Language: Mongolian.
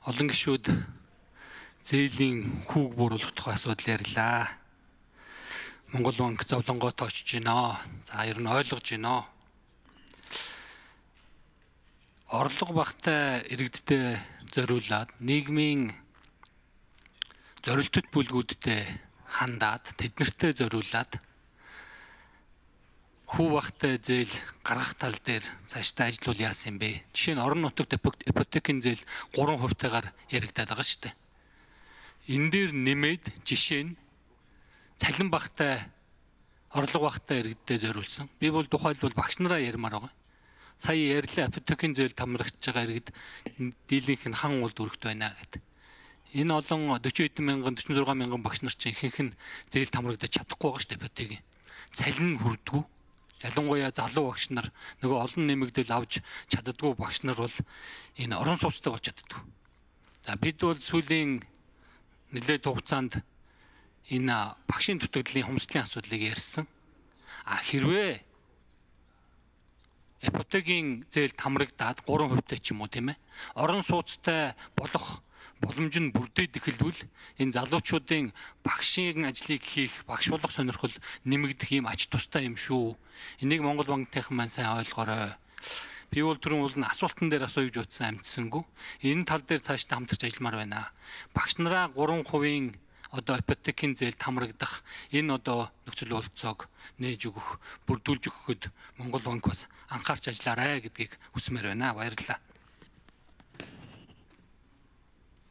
Олон гишүүд зээлийн хүүг бууруулах тухай асуудал ярьлаа. Монгол банк зовлонгоо тоочж байна. За ер нь ойлгож байна. Орлого багтай иргэдтэй зориулаад нийгмийн зорилттой бүлгүүдтэй хандаад тэднэртэй зориулаад хүү багтай зээл гаргах тал дээр цаашдаа ажиллавал яасан юм бэ? Жишээ нь орон нутагт ипотекийн зээл 3%-тайгаар яригдаад байгаа шүү дээ. Энэ дээр нэмээд жишээ нь цалин багтай орлого багтай иргэдтэй зориулсан. Би бол тухайлбал багш нараа ярмаар байгаа. Сая ярьлаа ипотекийн зээл тамрагдж байгаа иргэд дийлэнх нь хан улд өргөт байна гэдэг. Энэ олон 40 мянган 46 мянган багш нар чинь ихэнх нь зээл тамрагдаж чадахгүй байгаа шүү дээ ипотекийн. Цалин нь хүрдэггүй. Ялангуяа залуу багш нар нөгөө олон нэмэгдэл авч чаддаггүй багш нар бол энэ орон сууцтай болж чаддаг. За бид бол сүүлийн нэлээд хугацаанд энэ багшийн дутагдлын хомсдлын асуудлыг ярьсан. Хэрвээ ипотекийн зээл тамрагдаад 3%-тэй ч юм уу тийм ээ. Орон сууцтай болох боломж нь бүрдээд эхэлвэл энэ залуучуудын багшийн ажлыг хийх, багш болох сонирхол нэмэгдэх юм ач тустай юм шүү. Энийг Монгол банкныхан маань сайн ойлгоорой. Би бол түрүүн бол асуултан дээр асууж утсан амтсангүй. Энэ тал дээр цаашдаа хамтарч ажилламаар байна. Багш нараа 3% одоо ипотекийн зээл тамрагдах энэ одоо нөхцөл болцоог нээж өгөх, бүрдүүлж өгөхөд Монгол банк бас анхаарч ажиллаарай гэдгийг хүсмээр байна. Баярлалаа.